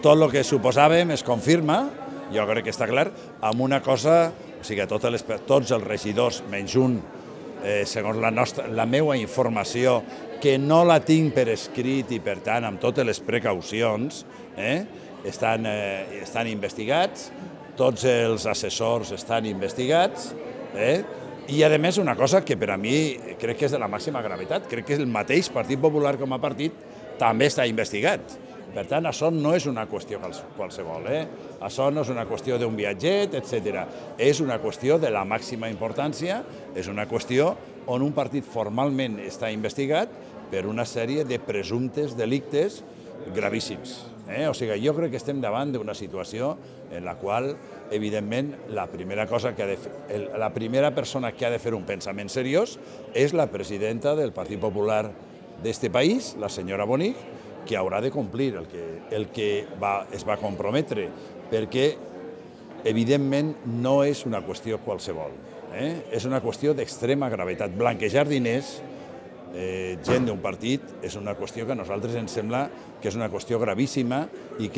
tot el que suposàvem es confirma, jo crec que està clar, amb una cosa, o sigui, tots els regidors, menys un, segons la meva informació, que no la tinc per escrit i, per tant, amb totes les precaucions, estan investigats, tots els assessors estan investigats, i, a més, una cosa que per a mi crec que és de la màxima gravetat, crec que el mateix Partit Popular com a partit també està investigat. Per tant, això no és una qüestió qualsevol, això no és una qüestió d'un viatget, etc. És una qüestió de la màxima importància, és una qüestió on un partit formalment està investigat per una sèrie de presumptes delictes gravíssims. O sigui, jo crec que estem davant d'una situació en la qual, evidentment, la primera persona que ha de fer un pensament seriós és la presidenta del Partit Popular d'este país, la senyora Bonig, que haurà de complir el que es va comprometre, perquè, evidentment, no és una qüestió qualsevol. És una qüestió d'extrema gravetat. Blanquejar diners, gent d'un partit, és una qüestió que a nosaltres ens sembla que és una qüestió gravíssima i que